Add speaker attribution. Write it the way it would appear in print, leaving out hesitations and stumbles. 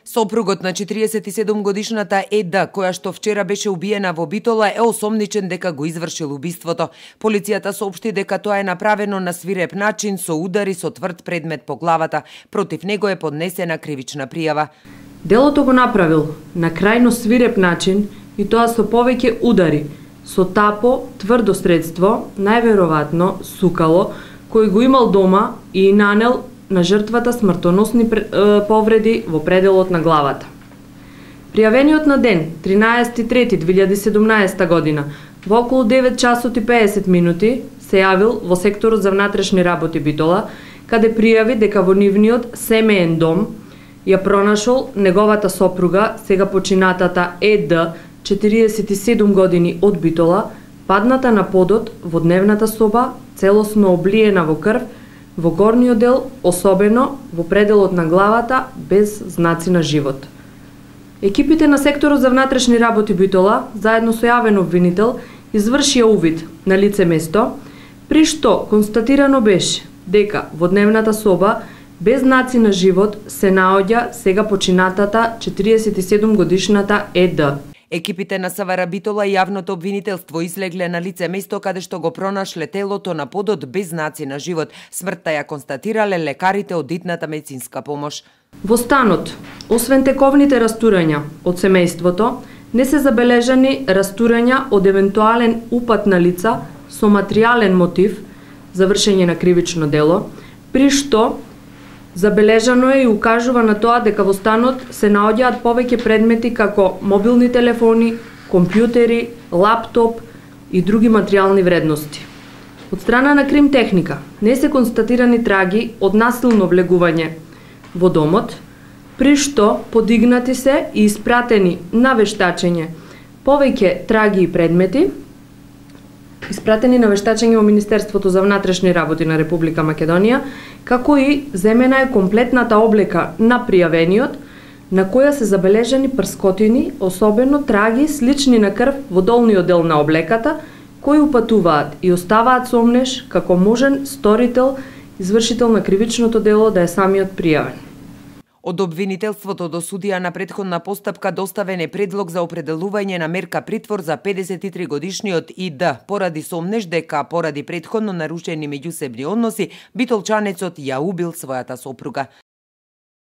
Speaker 1: Сопругот на 47 годишната ЕД, која што вчера беше убиена во Битола, е осомничен дека го извршил убиството. Полицијата соопшти дека тоа е направено на свиреп начин со удари со тврд предмет по главата. Против него е поднесена кривична пријава.
Speaker 2: Делото го направил на крајно свиреп начин и тоа со повеќе удари, со тапо, тврдо средство, најверојатно сукало, кој го имал дома и нанел на жртвата смртоносни повреди во пределот на главата. Пријавениот на ден 13.3.2017 година во околу 9 часот и 50 минути се јавил во секторот за внатрешни работи Битола, каде пријави дека во нивниот семеен дом ја пронашол неговата сопруга, сега починатата ЕД, 47 години од Битола, падната на подот во дневната соба, целосно облиена во крв, во горниот дел, особено во пределот на главата, без знаци на живот. Екипите на секторот за внатрешни работи Битола, заедно со јавен обвинител, извршија увид на лице место, при што констатирано беше дека во дневната соба, без знаци на живот, се наоѓа сега починатата 47 годишната ЕД.
Speaker 1: Екипите на СВР Битола и јавното обвинителство излегле на лице место каде што го пронашле телото на подот без знаци на живот. Смртта ја констатирале лекарите од итната медицинска помош.
Speaker 2: Во станот, освен тековните растурања од семејството, не се забележани растурања од евентуален упат на лица со материјален мотив за вршење на кривично дело, при што забележано е и укажува на тоа дека во станот се наоѓаат повеќе предмети како мобилни телефони, компјутери, лаптоп и други материјални вредности. Од страна на крим техника не се констатирани траги од насилно влегување во домот, при што подигнати се и испратени на вештачење повеќе траги и предмети, испратени на вештачење во Министерството за внатрешни работи на Република Македонија, како и земена е комплетната облека на пријавениот, на која се забележани прскотини, особено траги слични на крв во долниот дел на облеката, кои упатуваат и оставаат сомнеш како можен сторител, извршител на кривичното дело да е самиот пријавен.
Speaker 1: Од обвинителството до судија на претходна постапка доставен е предлог за определување на мерка притвор за 53 годишниот ИД, поради сомнеш дека поради претходно нарушени меѓусебни односи, битолчанецот ја убил својата сопруга.